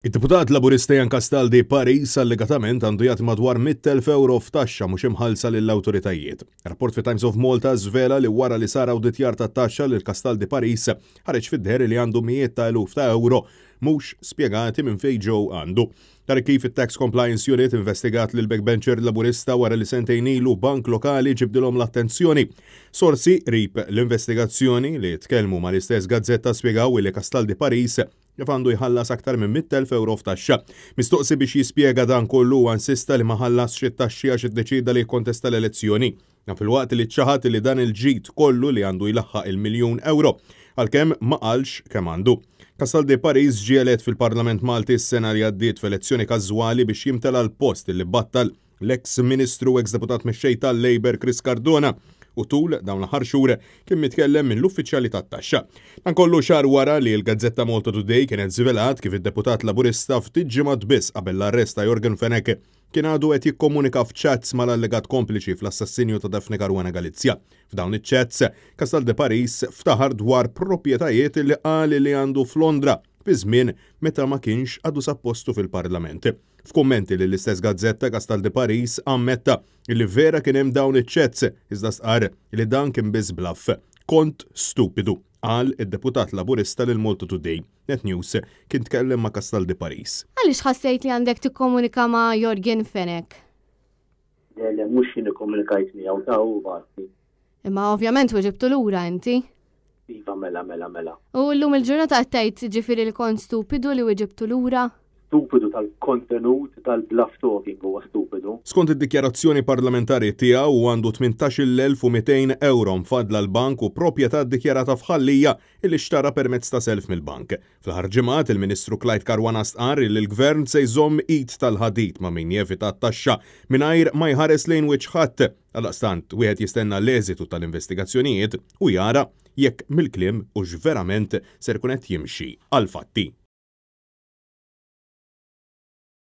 Id-Deputat Laburista Ian Castaldi Paris allegatament għandu jagħti madwar 100,000 ewro f'taxxa mhux imħallsa lill-awtoritajiet. Rapport fit Times of Malta żvela li wara li sar awditjar tat-taxxa lil Castaldi Paris ħareġ fid-deher li għandu mijiet ta' eluf ta' ewro mhux spjegati minn fejn ġew għandu. Tara kif it-Tax Compliance Unit investigat lil backbencher Laburista wara li sentejn ilu bank lokali ġibdilhom l-attenzjoni. Sorsi qrib l-investigazzjoni li tkellmu mal-istess gazzetta spjegaw li Castaldi Paris kif għandu jħallas aktar minn 100,000 ewro f'taxxa. Mistoqsi biex jispjega dan kollu huwa insista li ma ħallasx it-taxxi għax iddeċieda li jikkontesta l-elezzjoni. Dan filwaqt li ċaħad li dan il-ġid kollu li għandu jlaħħaq il-miljun ewro, għalkemm ma qalx kemm għandu. Castaldi Paris ġie elett fil-Parlament Malti s-sena li għaddiet f'elezzjoni każwali biex jimtela l-post li battal l-eks Ministru u eks Deputat Mexxej tal-Labour Chris Cardona u tul dawn l-aħħar xhur kien mitkellem mill-uffiċjali tat-taxxa. Dan kollu xahar wara li l-gazzetta Malta Today kienet żvelat kif id-deputat Laburista ftit ġimgħat biss qabel l-arrest ta' Yorgen Fenech kien għadu qed jikkomunika f'chats mal-allegat kompliċi fl-assassinju ta' Daphne Caruana Galizia. F'dawn iċ-chats, Castaldi Paris ftaħar dwar proprjetajiet li qal li għandu f'Londra fi żmien meta ma kienx għadu sab postu fil-Parlament. F'kummenti lill-istess gazzetta, Castaldi Paris ammetta li vera kien hemm dawn iċ-chats iżda stqarr li dan kien biss bluff. Kont stupidu, qal id-deputat Laburista lil Malta Today. Net News kien tkellem ma' Castaldi Paris. Għaliex ħassejt li għandek tikkomunika ma' Yorgen Fenech? Le, le, mhux jien ikkomunikajt miegħu ta' hu bagħatni. Imma ovvjament weġibtu lura inti. Iva, mela, mela, mela. U llum il-ġurnata qed tgħid ġifieri li kont stupidu li weġibtu lura? Stupidu tal-kontenut tal-bluff talking huwa stupidu. Skont id-dikjarazzjoni parlamentari tiegħu hu għandu 18,200 ewro mfaddla l-bank u proprjetà ddikjarata f'Ħal Lija illi xtara permezz ta' self mill-bank. Fl-aħħar ġimgħat, il-Ministru Clyde Caruana stqarr illi l-Gvern se jżomm id tal-ħadid ma' min jevita t-taxxa mingħajr ma jħares lejn wiċċ ħadd. Għaldaqstant, wieħed jistenna l-eżitu tal-investigazzjonijiet u jara jekk mill-kliem hux verament ser ikun qed jimxi għall-fatti.